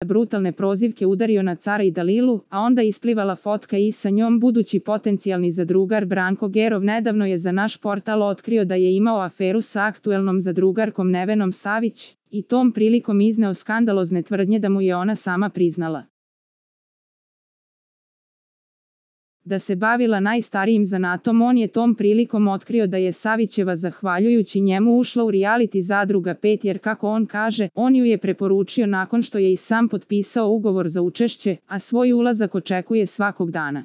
brutalne prozivke udario na Cara i Dalilu, a onda isplivala fotka i sa njom budući potencijalni zadrugar Branko Gerov nedavno je za naš portal otkrio da je imao aferu sa aktuelnom zadrugarkom Nevenom Savić i tom prilikom izneo skandalozne tvrdnje da mu je ona sama priznala da se bavila najstarijim zanatom. On je tom prilikom otkrio da je Savićeva zahvaljujući njemu ušla u reality Zadruga 5 jer kako on kaže, on ju je preporučio nakon što je i sam potpisao ugovor za učešće, a svoj ulazak očekuje svakog dana.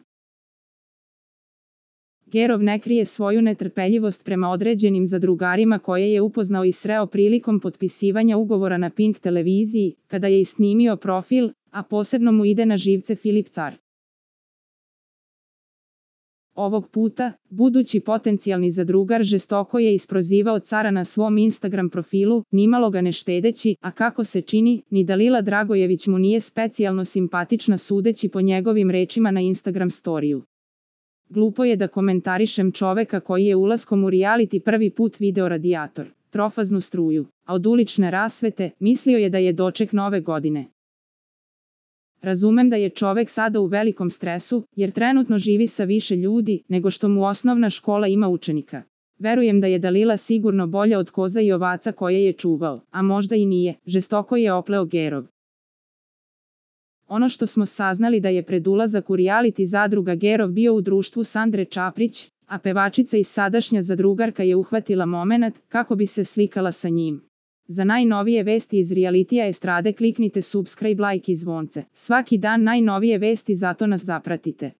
Gerov ne krije svoju netrpeljivost prema određenim zadrugarima koje je upoznao i sreo prilikom potpisivanja ugovora na Pink televiziji, kada je i snimio profil, a posebno mu ide na živce Filip Car. Ovog puta, budući potencijalni zadrugar žestoko je isprozivao Cara na svom Instagram profilu, nimalo ga ne štedeći, a kako se čini, ni Dalila Dragojević mu nije specijalno simpatična sudeći po njegovim rečima na Instagram storiju. Glupo je da komentarišem čoveka koji je ulaskom u reality prvi put video radijator, trofaznu struju, a od ulične rasvete, mislio je da je doček nove godine. Razumem da je čovek sada u velikom stresu, jer trenutno živi sa više ljudi nego što mu osnovna škola ima učenika. Verujem da je Dalila sigurno bolja od koza i ovaca koje je čuvao, a možda i nije, žestoko je opleo Gerov. Ono što smo saznali da je pred ulazak u reality Zadruga Gerov bio u društvu Sandre Čaprić, a pevačica i sadašnja zadrugarka je uhvatila momenat kako bi se slikala sa njim. Za najnovije vesti iz realitija estrade kliknite subscribe, like i zvonce. Svaki dan najnovije vesti, zato nas zapratite.